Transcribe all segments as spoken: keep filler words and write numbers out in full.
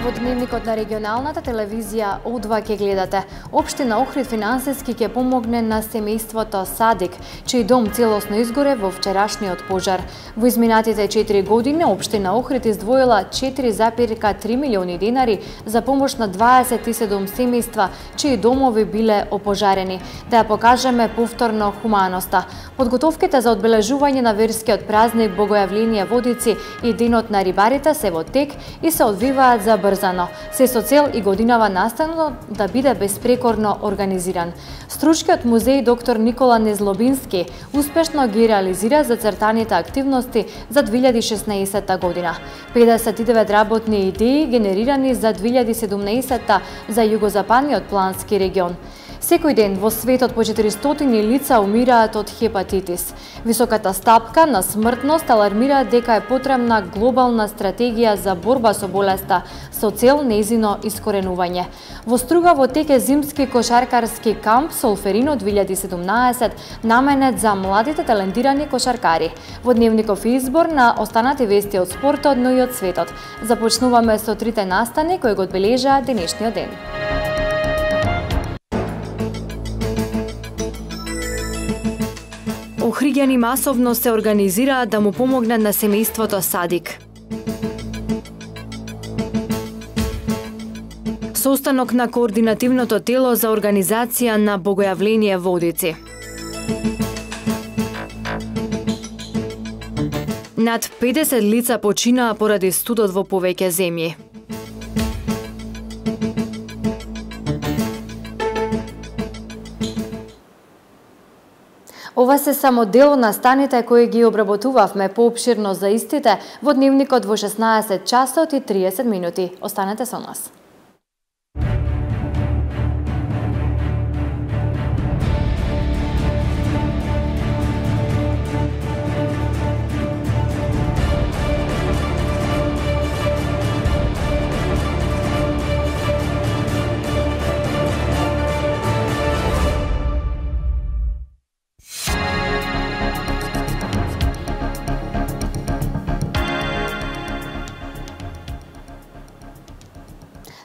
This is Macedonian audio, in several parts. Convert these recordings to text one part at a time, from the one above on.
Во дневникот на регионалната телевизија О два ќе гледате. Општина Охрид финансиски ќе помогне на семејството Садик, чиј дом целосно изгоре во вчерашниот пожар. Во изминатите четири години општина Охрид издвоила четири запирка три милиони денари за помош на дваесет и седум семејства чии домови биле опожарени. Да ја покажеме повторно хуманоста. Подготовките за одбележување на верскиот празник Богојавление Водици и Денот на рибарите се во тек и се одвиваат забрзано, се со цел и годинава настанот да биде безпрекорно организиран. Стручкиот музеј доктор Никола Незлобински успешно ги реализира зацртаните активности за две илјади и шеснаесетта година. педесет и девет работни идеи генерирани за две илјади и седумнаесетта за југозападниот плански регион. Секој ден во светот по четиристотини лица умираат од хепатитис. Високата стапка на смртност алармира дека е потребна глобална стратегија за борба со болеста со цел нејзино искоренување. Во Струга во тек е зимски кошаркарски камп Солферино две илјади и седумнаесет наменет за младите талентирани кошаркари. Во дневников избор на останати вести од спортот, но и од светот. Започнуваме со трите настани кои го одбележаа денешниот ден. Охриѓани масовно се организираат да му помогнат на семејството Садик. Состанок на координативното тело за организација на Богојавление Водици. Над педесет лица починаа поради студот во повеќе земји. Ова се само дел на станите кои ги обработувавме поопширно за истите во дневникот во шеснаесет часот и триесет минути. Останете со нас.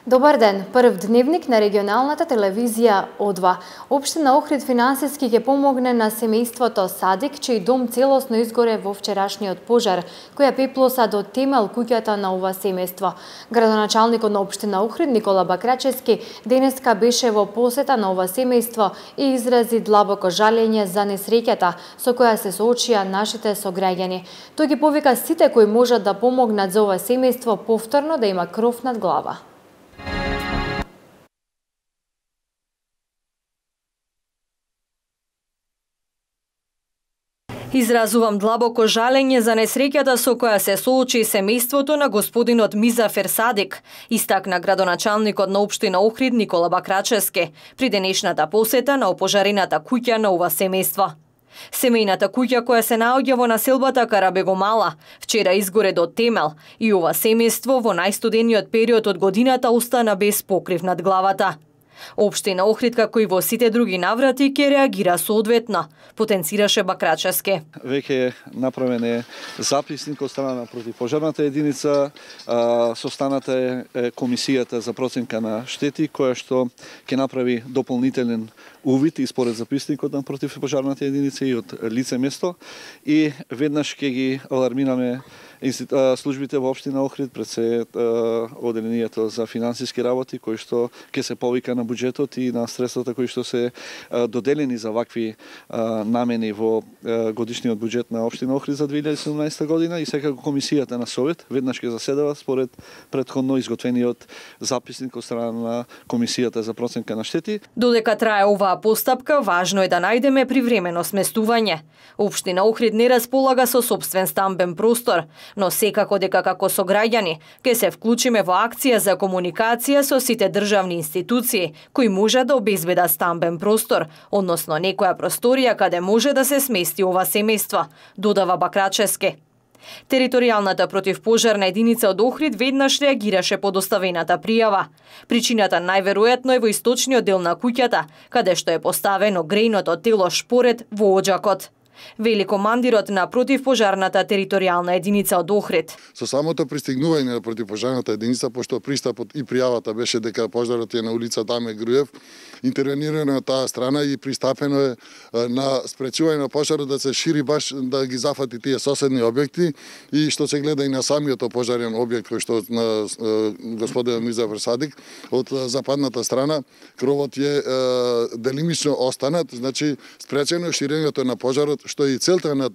Добар ден, прв дневник на регионалната телевизија О два. Општина Охрид финансиски ќе помогне на семејството Садик, чиј дом целосно изгоре во вчерашниот пожар, која пеплоса до темел куќата на ова семејство. Градоначалникот на општина Охрид Никола Бакрачевски денеска беше во посета на ова семејство и изрази длабоко жалење за несреќата со која се соочија нашите сограѓани. Тој ги повика сите кои можат да помогнат за ова семејство повторно да има кров над глава. Изразувам длабоко жалење за несреќата со која се соочи семејството на господинот Мизафер Садик, истакна градоначалникот на општина Охрид Никола Бакрачевски при денешната посета на опожарената куќа на ова семејство. Семејната куќа која се наоѓа во населбата Карабегомала вчера изгоре до темел и ова семејство во најстудениот период од годината остана без покрив над главата. Општина Охрид, како и во сите други наврати, ќе реагира соодветно, потенцираше Бакрачевски. Веќе направен е записник од страна на противпожарната единица, состаната е комисијата за проценка на штети, која што ќе направи дополнителен увид и според записникот на противпожарната единица и од лице место, и веднаш ќе ги алармираме службите во општина Охрид, пред се оделението за финансиски работи, кои што ќе се повика на буџетот и на средствата кои што се доделени за вакви намени во годишниот буџет на општина Охрид за две илјади и седумнаесетта година, и секако комисијата на совет веднаш ќе заседава според претходно изготвениот записник од страна на комисијата за проценка на штети. Додека трае оваа постапка, важно е да најдеме привремено сместување. Општина Охрид не располага со сопствен стамбен простор, но секако дека како сограѓани ќе се вклучиме во акција за комуникација со сите државни институции кои може да обезбедат стамбен простор, односно некоја просторија каде може да се смести ова семејство, додава Бакрачевски. Територијалната противпожарна единица од Охрид веднаш реагираше по доставената пријава. Причината најверојатно е во источниот дел на куќата, каде што е поставено грејното тело шпоред во оџакот. Вели командирот на противпожарната територијална единица од Охрид. Со самото пристигнување на противпожарната единица, пошто пристапот и пријавата беше дека пожарот е на улица Даме Груев, интервенирано од таа страна и пристапено е на спречување на пожарот да се шири баш да ги зафати тие соседни објекти и што се гледа и на самиот пожарен објект кој што на господин Миза Ферсадик од западната страна кровот е делимично останат, значи спречено ширењето на пожарот, што и целта на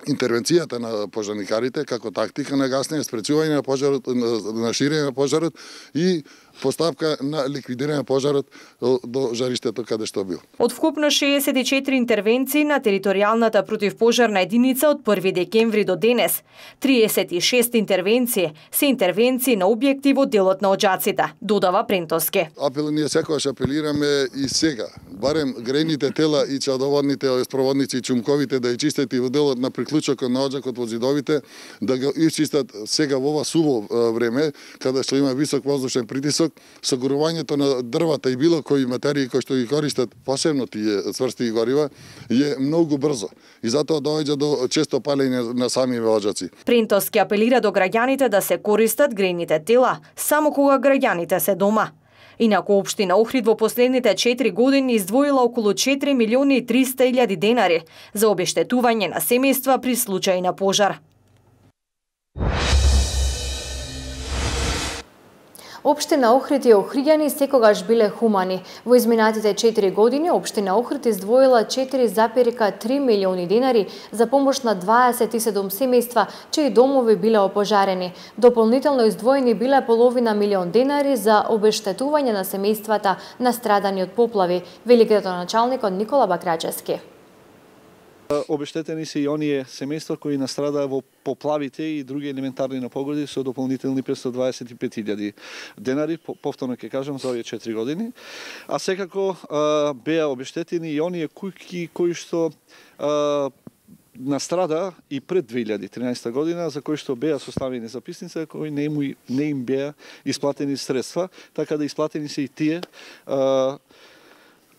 интервенцијата на пожарникарите како тактика на гаснење, спречување на пожарот, на ширење на пожарот и постапка на ликвидирање на пожарот до жариштето каде што бил. Од вкупно шеесет и четири интервенции на територијалната противпожарна единица од први декември до денес, триесет и шест интервенции се интервенции на објекти во делот на Оџаците, додава Прентоски. Апел ние секогаш апелираме и сега, барем грејните тела и чадоводните спроводници и чумковите да ја чистат и во делот на приклучокот на Оџакот во зидовите, да го исчистат сега во ова суво време, каде што има висок воздушен притисок, согорувањето на дрвата и било кои материи кои што ги користат, посебно тие цврсти горива, е многу брзо. И затоа доаѓа до често палење на самиве оџаци. Прентоски апелира до граѓаните да се користат грејните тела само кога граѓаните се дома. Инаку општина Охрид во последните четири години издвоила околу четири милиони и триста илјади денари за обештетување на семејства при случај на пожар. Општина Охрид и охриѓани секогаш биле хумани. Во изминатите четири години Општина Охрид издвоила четири запирка три милиони денари за помош на дваесет и седум семејства чии домови биле опожарени. Дополнително издвоени биле половина милион денари за обештетување на семејствата настрадани од поплави, вели градоначалникот Никола Бакрачески. Обештетени се и оние семејства кои настрадаа во поплавите и други елементарни непогоди со дополнителни петстотини дваесет и пет илјади денари, повторно ќе кажам, за овие четири години. А секако а, беа обештетени и оние куќи кои што а, настрада и пред две илјади и тринаесета година, за кои што беа составени записници, кои не им, не им беа исплатени средства, така да исплатени се и тие а,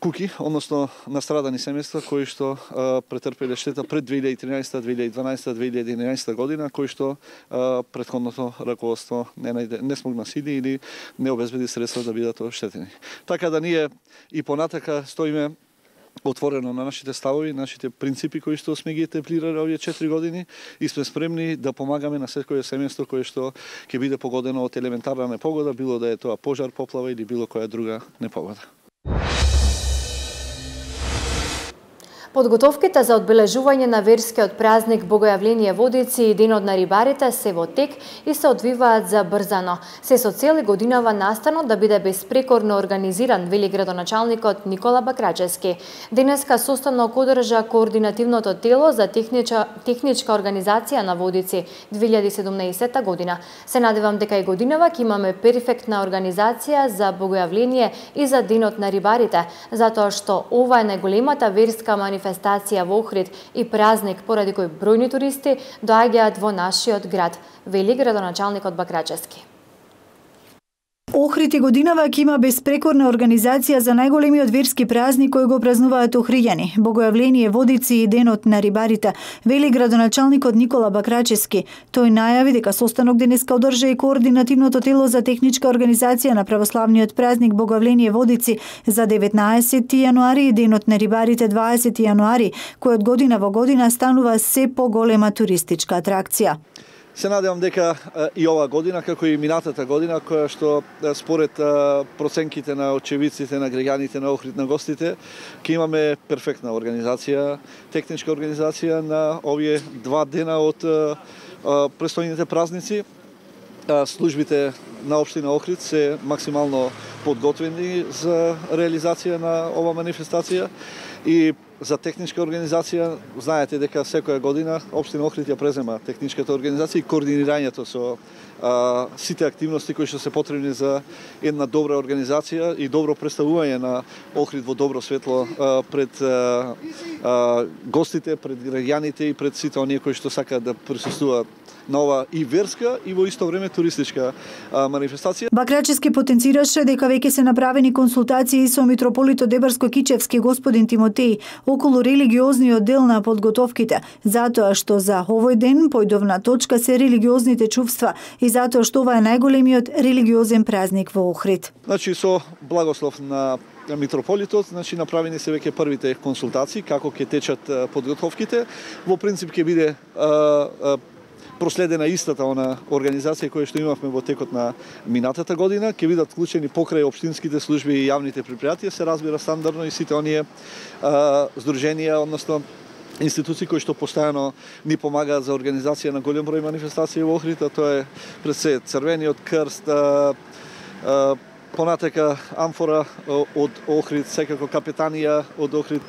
куки, односно настрадани семејства кои што а, претрпеле штета пред две илјади и тринаесета, две илјади и дванаесета, две илјади и единаесета година, кои што а, претходното раководство не најде, не смогна сили или не обезбеди средства да бидат оштетени. Така да ние и понатака стоиме отворено на нашите ставови, нашите принципи кои што сме ги етаблирале овие четири години и сме спремни да помагаме на секое семејство кое што ќе биде погодено од елементарна непогода, било да е тоа пожар, поплава или било која друга непогода. Подготовките за одбележување на верскиот празник Богојавление Водици и Денот на рибарите се во тек и се одвиваат забрзано. Се со цел годинава настанот да биде безпрекорно организиран, вели градоначалникот Никола Бакрачески. Денеска состанок одржа координативното тело за техничка, техничка организација на Водици две илјади и седумнаесета година. Се надевам дека и годинава ќе имаме перфектна организација за Богојавление и за Денот на рибарите, затоа што ова е најголемата верска манифестација манифестација во Охрид и празник поради кој бројни туристи доаѓаат во нашиот град, вели градоначалникот Бакрачески. Охрид и годинава ќе има безпрекорна организација за најголемиот верски празник кој го празнуваат охриѓани, Богојавление Водици и Денот на рибарите, вели градоначалникот Никола Бакрачески. Тој најави дека состанок денеска одржа и координативното тело за техничка организација на православниот празник Богојавление Водици за деветнаесети јануари и Денот на рибарите дваесети јануари, кој од година во година станува се поголема туристичка атракција. Се надевам дека и ова година, како и минатата година, која што според проценките на очевидците, на граѓаните на Охрид, на гостите, ќе имаме перфектна организација, техничка организација на овие два дена од престојните празници. Службите на општина Охрид се максимално подготвени за реализација на ова манифестација и за техничка организација. Знаете дека секоја година општина Охрид ја презема техничката организација и координирањето со а, сите активности кои што се потребни за една добра организација и добро представување на Охрид во добро светло а, пред а, а, гостите, пред граѓаните и пред сите оние кои што сакаат да присуствуваат на ова и верска и во исто време туристичка а, манифестација. Бакрачески потенцираше дека веќе се направени консултации со митрополитот Дебарско-Кичевски господин Тимотеј околу религиозниот дел на подготовките, затоа што за овој ден појдовна точка се религиозните чувства и затоа што ова е најголемиот религиозен празник во Охрид. Значи со благослов на митрополитот, значи направени се веќе првите консултации како ќе течат подготовките. Во принцип ќе биде а, а, проследена истата она организација која што имавме во текот на минатата година, ќе бидат вклучени покрај општинските служби и јавните предпријатија, се разбира стандардно и сите оние а, здруженија, односно институции кои што постојано ни помагаат за организација на голем број манифестации во Охрид, а тоа е пред се Црвениот крст, а, а, понатека Амфора од Охрид, секако капетанија од Охрид,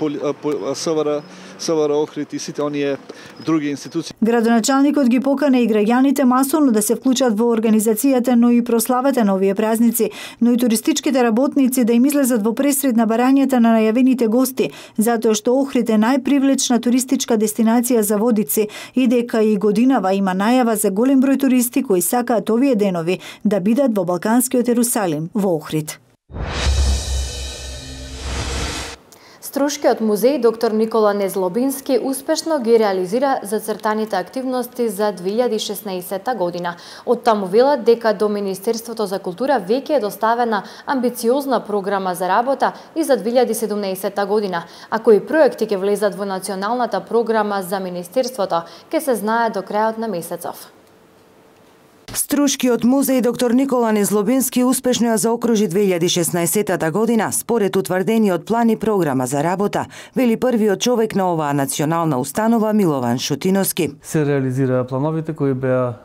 СВР, СВР Охрид и сите оние други институции. Градоначалникот ги покана и граѓаните масовно да се вклучат во организацијата, но и прославата на овие празници, но и туристичките работници да им излезат во пресред на барањата на најавените гости, затоа што Охрид е најпривлечна туристичка дестинација за водици и дека и годинава има најава за голем број туристи кои сакаат овие денови да бидат во Балканскиот Ерусалим во Охрид. Струшкиот музеј доктор Никола Незлобински успешно ги реализира зацртаните активности за две илјади и шеснаесетта година. Од таму велат дека до Министерството за култура веќе е доставена амбициозна програма за работа и за две илјади и седумнаесетта година, а кои проекти ќе влезат во националната програма за Министерството, ќе се знае до крајот на месецов. Струшкиот музеј доктор Никола Незлобински успешно ја заокружи две илјади и шеснаесетта година според утврдениот план и програма за работа, вели првиот човек на оваа национална установа Милован Шутиновски. Се реализира плановите кои беа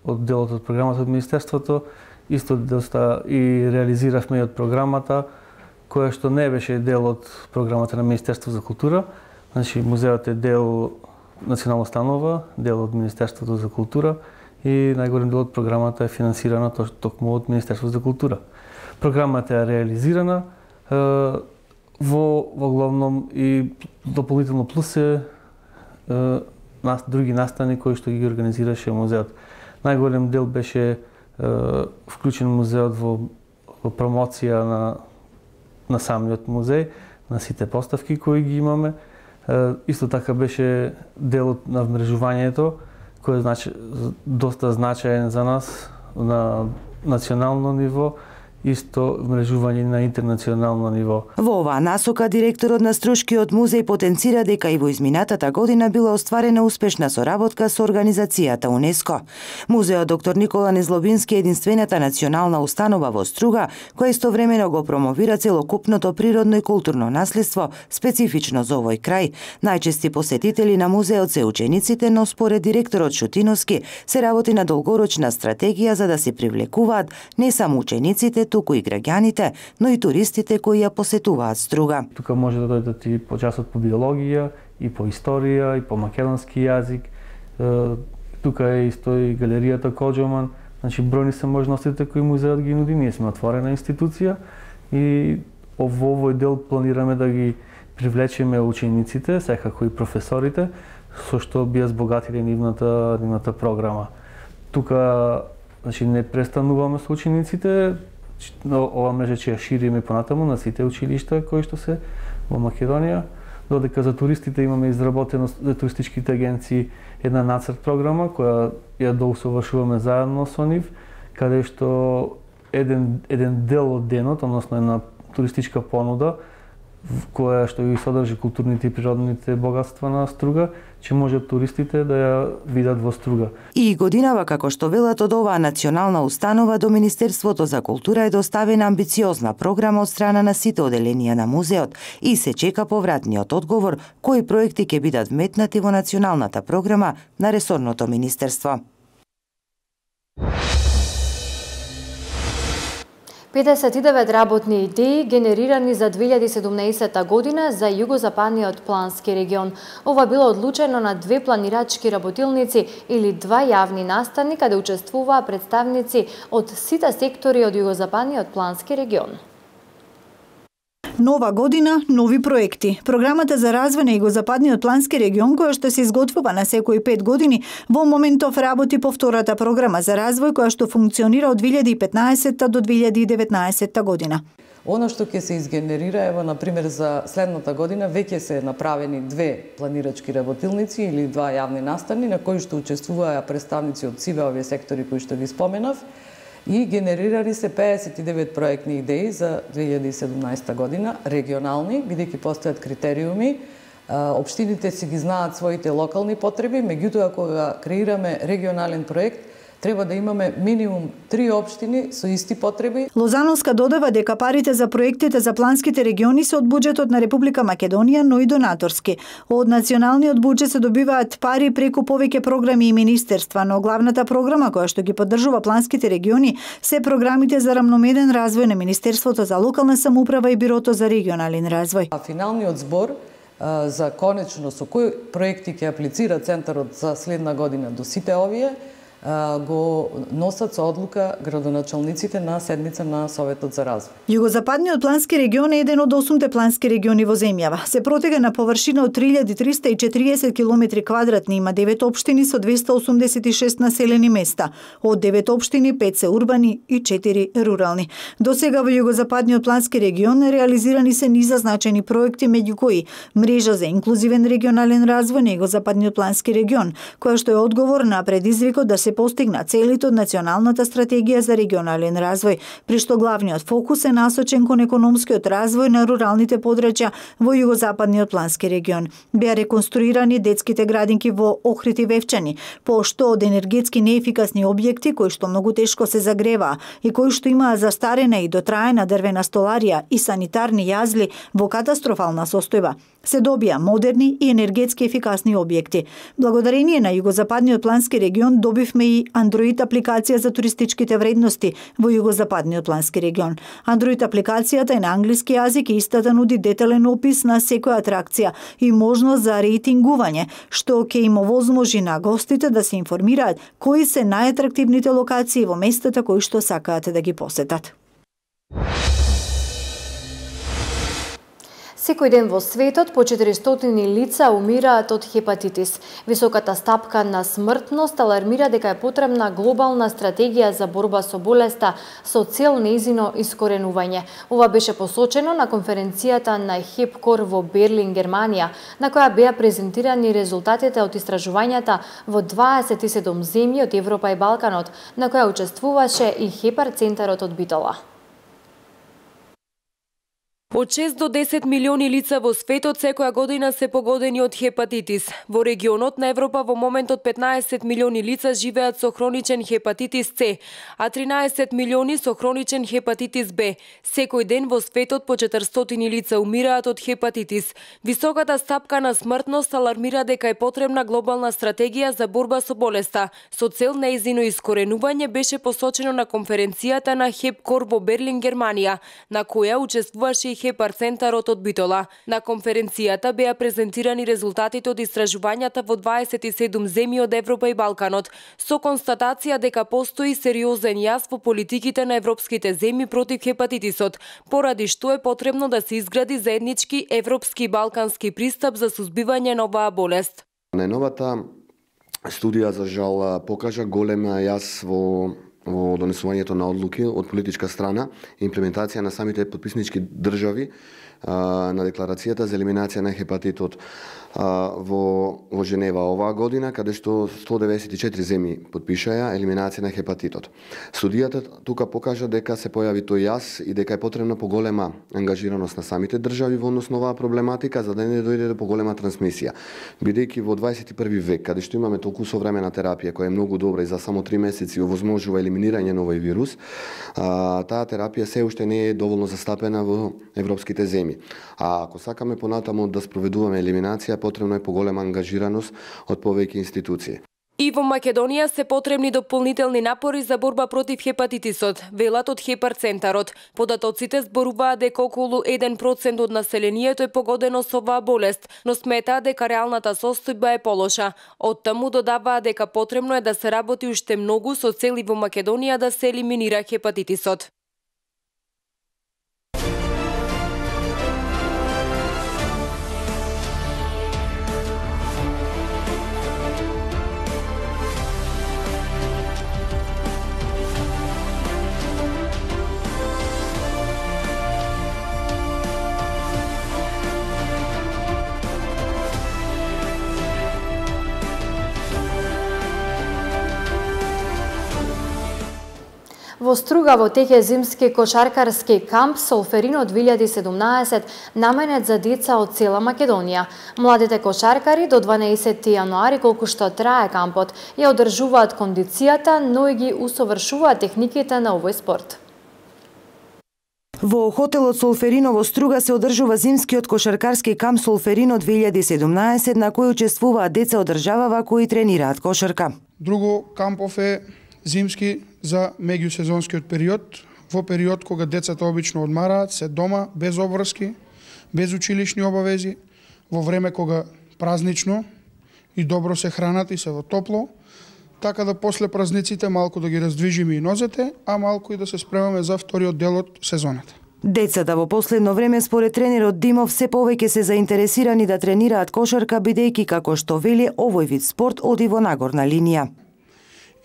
од делот од програмата од Министерството, исто доста и реализиравме и од програмата која што не беше дел од програмата на Министерството за култура. Значи музеот е дел национална установа, дел од Министерството за култура, и најголем дел од програмата е финансирана токму од Министерството за култура. Програмата е реализирана е, во во главном и дополнително плюс е, е нас, други настани кои што ги организираше музеот. Најголем дел беше е, вклучен музеот во, во промоција на на самиот музеј, на сите поставки кои ги имаме. Е, исто така беше дел на вмрежувањето кој е значи, доста значаен за нас на национално ниво, исто мрежување на интернационално ниво. Во оваа насока директорот на Струшкиот музеј потенцира дека и во изминатата година била остварена успешна соработка со организацијата УНЕСКО. Музеот доктор Никола Незлобински е единствената национална установа во Струга која истовремено го промовира целокупното природно и културно наследство специфично за овој крај. Најчести посетители на музеот се учениците, но според директорот Шутиновски се работи на долгорочна стратегија за да се привлекуваат не само учениците, туку и граѓаните, но и туристите кои ја посетуваат Струга. Тука може да дојдат и по часот по биологија, и по историја, и по македонски јазик. Тука е исто и галеријата Коџоман. Значи бројни се можностите кои музеот ги нуди. Ние сме отворена институција и во овој дел планираме да ги привлечеме учениците, секако и професорите, со што би ја збогатиле нивната нивната програма. Тука значи не престануваме со учениците. Ова мрежа ќе ја шириме понатаму на сите училишта кои што се во Македонија, додека за туристите имаме изработено за туристичките агенции една нацрт програма која ја доусовршуваме заедно со нив, каде што еден еден дел од денот, односно една туристичка понуда која што ги содржи културните и природните богатства на Струга, че може туристите да ја видат во Струга. И годинава, како што велат од оваа национална установа, до Министерството за култура е доставена амбициозна програма од страна на сите оделенија на музеот и се чека повратниот одговор кои проекти ќе бидат вметнати во националната програма на ресорното министерство. педесет и девет работни идеи генерирани за две илјади и седумнаесетта година за југозападниот плански регион. Ова било одлучено на две планирачки работилници или два јавни настани каде учествуваа представници од сите сектори од југозападниот плански регион. Нова година, нови проекти. Програмата за развој на југозападниот плански регион, која што се изготвува на секои пет години, во моментов работи по втората програма за развој која што функционира од две илјади и петнаесетта до две илјади и деветнаесетта година. Оно што ќе се изгенерира, ево, например, за следната година веќе се направени две планирачки работилници или два јавни настани на кои што учествуваа представници од сиве овие сектори кои што ги споменав и генерирани се пеесет и девет проектни идеи за две илјади и седумнаесета година, регионални, бидејќи постојат критериуми. Општините си ги знаат своите локални потреби, меѓутоа кога креираме регионален проект, треба да имаме минимум три општини со исти потреби. Лозановска додава дека парите за проектите за планските региони се од буџетот на Република Македонија, но и донаторски. Од националниот буџет се добиваат пари преку повеќе програми и министерства, но главната програма која што ги поддржува планските региони се програмите за рамномерен развој на Министерството за локална самоуправа и Бирото за регионален развој. А финалниот збор за конечно со кои проекти ќе аплицира Центарот за следна година до сите овие, го носат со одлука градоначалниците на седмица на Советот за развој. Југозападниот плански регион е еден од осумте плански региони во земјава. Се протега на површина од три илјади триста и четириесет километри квадратни, има девет општини со двесте осумдесет и шест населени места. Од девет општини, пет се урбани и четири рурални. До сега во Југозападниот плански регион реализирани се низа значајни проекти, меѓу кои мрежа за инклузивен регионален развој на Југозападниот плански регион, која што е одговор на предизвикот да се постигна целите од Националната стратегија за регионален развој, при што главниот фокус е насочен кон економскиот развој на руралните подрачја во Југозападниот плански регион. Беа реконструирани детските градинки во Охрид и Вевчани, пошто од енергетски неефикасни објекти кои што многу тешко се загреваа и кои што имаа застарена и дотраена дрвена столарија и санитарни јазли во катастрофална состојба, се добија модерни и енергетски ефикасни објекти. Благодарение на Југозападниот плански регион добивме и Android апликација за туристичките вредности во Југозападниот плански регион. Android апликацијата е на англиски јазик и истата нуди детален опис на секоја атракција и можност за рейтингување, што ќе им овозможи на гостите да се информираат кои се најатрактивните локации во местата кои што сакаат да ги посетат. Секој ден во светот по четиристотини лица умираат од хепатитис. Високата стапка на смртност алармира дека е потребна глобална стратегија за борба со болеста со цел нејзино искоренување. Ова беше посочено на конференцијата на Хепкор во Берлин, Германија, на која беа презентирани резултатите од истражувањата во дваесет и седум земји од Европа и Балканот, на која учествуваше и Хепар центарот од Битола. Од шест до десет милиони лица во светот секоја година се погодени од хепатитис. Во регионот на Европа во моментот петнаесет милиони лица живеат со хроничен хепатитис С, а тринаесет милиони со хроничен хепатитис Б. Секој ден во светот по четиристотини лица умираат од хепатитис. Високата стапка на смртност алармира дека е потребна глобална стратегија за борба со болеста. Со цел нејзино искоренување беше посочено на конференцијата на Хепкор во Берлин, Германија, на која учествуваше и Хепар центарот од Битола. На конференцијата беа презентирани резултатите од истражувањата во дваесет и седум земји од Европа и Балканот, со констатација дека постои сериозен јас во политиките на европските земји против хепатитисот, поради што е потребно да се изгради заеднички европски и балкански пристап за сузбивање на оваа болест. Најновата студија за жал покажа голем јас во во донесувањето на одлуки од политичка страна и имплементација на самите подписнички држави а, на декларацијата за елиминација на хепатитот а, во, во Женева оваа година, каде што сто деветдесет и четири земји подпишаја елиминација на хепатитот. Студијата тука покажа дека се појави тој јас и дека е потребна поголема ангажираност на самите држави во однос на оваа проблематика, за да не дојде до поголема трансмисија. Бидејќи во дваесет и први век, каде што имаме толку современа терапија која е многу добра и за само три месеци овозможува елиминирање на овој вирус, а, таа терапија се уште не е доволно застапена во европските земји. А ако сакаме понатаму да спроведуваме елиминација, потребно е поголема ангажираност од повеќе институции. И во Македонија се потребни дополнителни напори за борба против хепатитисот, велат од Хепар центарот. Податоците зборуваат дека околу еден процент од населението е погодено со оваа болест, но сметаат дека реалната состојба е полоша. Од таму додаваат дека потребно е да се работи уште многу со цели во Македонија да се елиминира хепатитисот. Во Струга во тек е зимски кошаркарски камп Солферино две илјади и седумнаесет наменет за деца од цела Македонија. Младите кошаркари до дванаесети јануари, колку што трае кампот, ја одржуваат кондицијата, но и ги усовршуваат техниките на овој спорт. Во хотелот Солферино во Струга се одржува зимскиот кошаркарски камп Солферино две илјади и седумнаесет на кој учествуваат деца од државава кои тренираат кошарка. Друго кампов е зимски за меѓусезонскиот период, во период кога децата обично одмараат, се дома, без обврски, без училишни обавези, во време кога празнично и добро се хранат и се во топло, така да после празниците малку да ги раздвижиме и нозете, а малку и да се спремаме за вториот дел од сезоната. Децата во последно време според тренерот Димов се повеќе се заинтересирани да тренираат кошарка, бидејќи како што вели овој вид спорт оди во нагорна линија.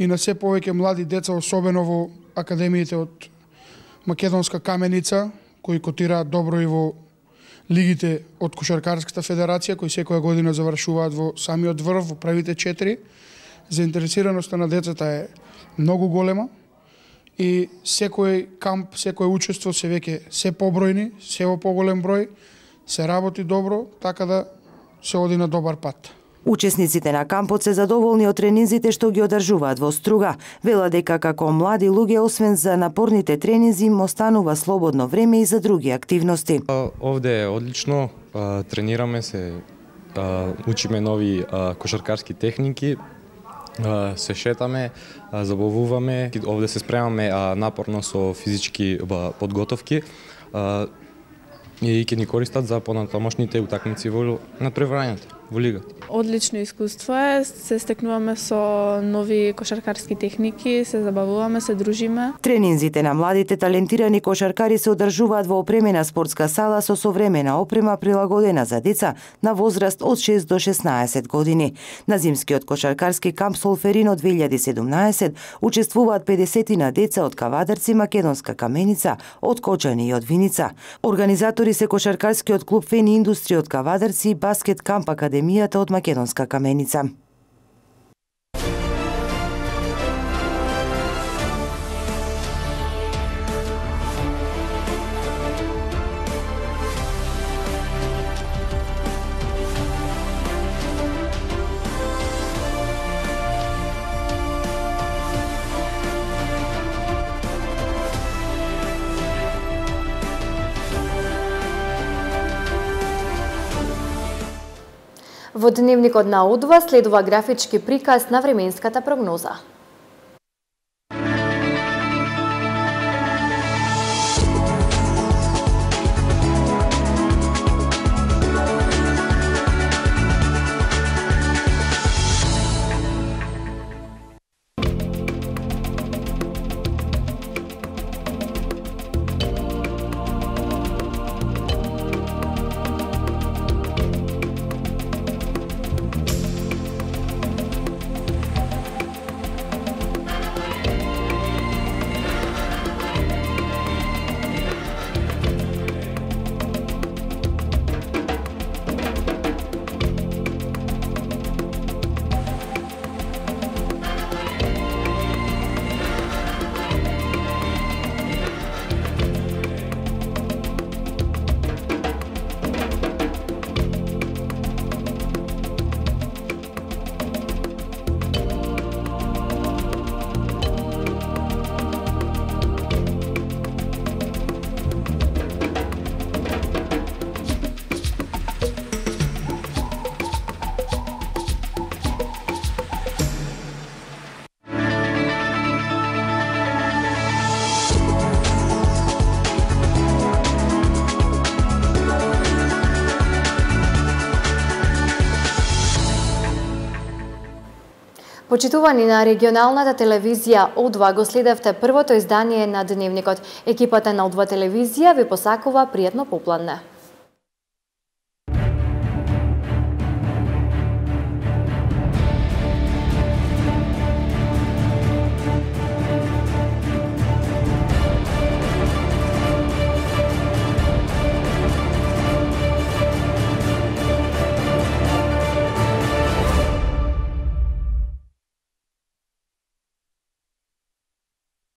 И на се повеќе млади деца, особено во академиите од Македонска каменица, кои котираат добро и во лигите од Кошаркарската федерација, кои секоја година завршуваат во самиот врв, во првите четири. Заинтересираноста на децата е многу голема и секој камп, секој учество се веќе се побројни, се во поголем број, се работи добро, така да се оди на добар пат. Учесниците на кампот се задоволни од тренинзите што ги одржуваат во Струга. Вела дека како млади луѓе, освен за напорните тренинзи, им останува слободно време и за други активности. Овде е одлично, тренираме се, учиме нови кошаркарски техники, се шетаме, забавуваме, овде се спремаме напорно со физички подготовки и ќе ни користат за понатамошните утакмици во надпреварањето во лигата. Одлично искуство е, се стекнуваме со нови кошаркарски техники, се забавуваме, се дружиме. Тренинзите на младите талентирани кошаркари се одржуваат во опремена спортска сала со современа опрема прилагодена за деца на возраст од шест до шеснаесет години. На зимскиот кошаркарски камп Солферино две илјади и седумнаесет учествуваат педесетина деца од Кавадарци, Македонска каменица, од Кочани и од Виница. Организатори се кошаркарскиот клуб Фени Индустрија од Кавадарци и баскет камп Академијата од Македонска каменица. Во дневникот на О два следува графички приказ на временската прогноза. Почитувани на регионалната телевизија О два го следевте првото издание на Дневникот. Екипата на О два телевизија ви посакува пријатно попладне.